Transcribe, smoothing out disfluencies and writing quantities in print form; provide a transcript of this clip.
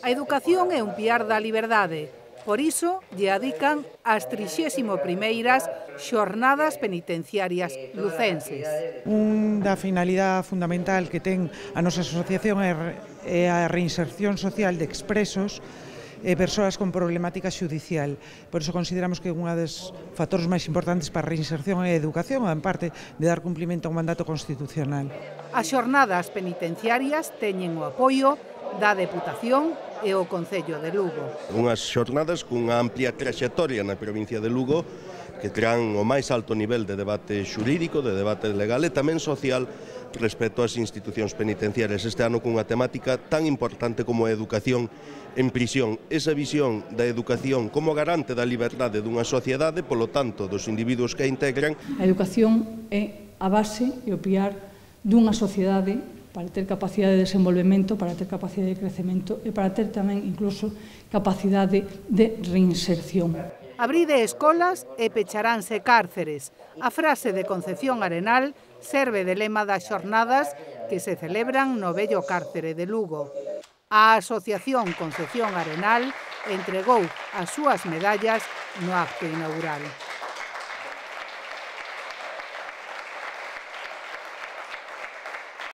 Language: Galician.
A educación é un piar da liberdade. Por iso, lle adican as 31ª Xornadas Penitenciarias Lucenses. Unha finalidade fundamental que ten a nosa asociación é a reinserción social de expresos e persoas con problemática xudicial. Por iso consideramos que unha dos factores máis importantes para a reinserción é a educación, en parte de dar cumprimento a un mandato constitucional. As xornadas penitenciarias teñen o apoio da Deputación e o Concello de Lugo. Unhas xornadas cunha amplia traxectoria na provincia de Lugo que traen o máis alto nivel de debate xurídico, de debate legal e tamén social respecto ás institucións penitenciarias. Este ano cunha temática tan importante como a educación en prisión. Esa visión da educación como garante da liberdade dunha sociedade, polo tanto, dos individuos que a integran. A educación é a base e o piar dunha sociedade para ter capacidade de desenvolvemento, para ter capacidade de crecemento e para ter tamén incluso capacidade de reinserción. Abride escolas e pecharánse cárceres. A frase de Concepción Arenal serve de lema das xornadas que se celebran no vello cárcere de Lugo. A Asociación Concepción Arenal entregou as súas medallas no acto inaugural.